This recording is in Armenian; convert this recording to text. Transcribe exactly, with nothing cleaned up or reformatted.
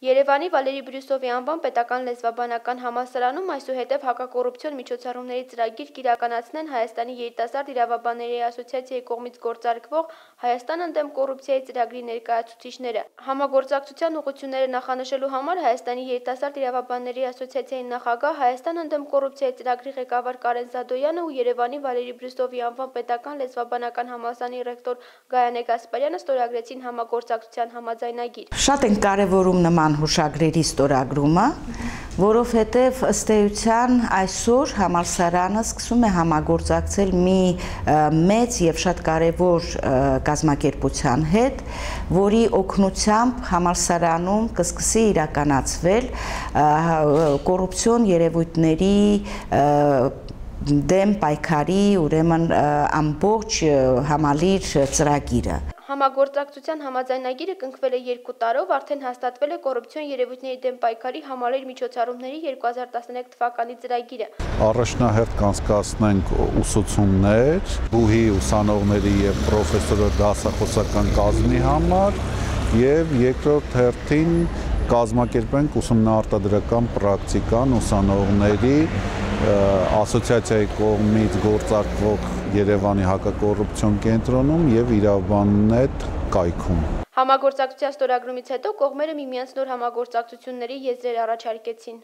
Երևանի Վալերի Բրյուսովի անվան պետական լեզվաբանական համալսարանում այսուհետև հակակոռուպցիոն միջոցառումների ծրագիր կիրականացնեն Հայաստանի երիտասարդ իրավաբանների ասոցիացիայի կողմից գործարկվող Հայաստան ընդդեմ կոռուպցիայի ծրագրի ներկայացուցիչները։ Համագործակցության ուղղությունները նախանշելու համար Հայաստանի երիտասարդ իրավաբանների ասոցիացիայի նախագահ, Հայաստան ընդդեմ կոռուպցիայի ծրագրի ղեկավար Կարեն Զադոյանը ու Երևանի Վալերի Բրյուսովի անվան պետական լեզվաբանական համալսարանի ռեկտոր Գայանե Գասպարյանը ստորագրեցին համագործակցության համաձայնագիր։ Շատ են կարևորում նման հուշագրերի ստորագրումը, որովհետև ըստ էության այսօր համալսարանը սկսում է համագործակցել մի մեծ եւ շատ կարևոր կազմակերպության հետ, որի օգնությամբ համալսարանում կսկսի իրականացվել կոռուպցիոն երևույթների դեմ պայքարի, ուրեմն ամբողջ համալիր ծրագիրը։ Համագործակցության համաձայնագիրը կնքվել է երկու տարով, արդեն հաստատվել է կոռուպցիոն երևույթների դեմ պայքարի համալիր միջոցառումների երկու հազար տասներեք թվականի ծրագիրը։ Առաջնահերթ կանցկացնենք ուսուցումներ բուհի ուսանողների եւ պրոֆեսորի դասախոսական կազմի համար եւ երկրորդ հերթին կազմակերպենք ուսումնաարտադրական պրակտիկան ուսանողների ասոցիացիայի կողմից գործարկվող Երևանի հակակոռուպցիոն կենտրոնում եւ իրավաբաննետ կայքում։ Համագործակցության ստորագրումից հետո կողմերը միմյանց նոր համագործակցությունների եզրեր առաջարկեցին։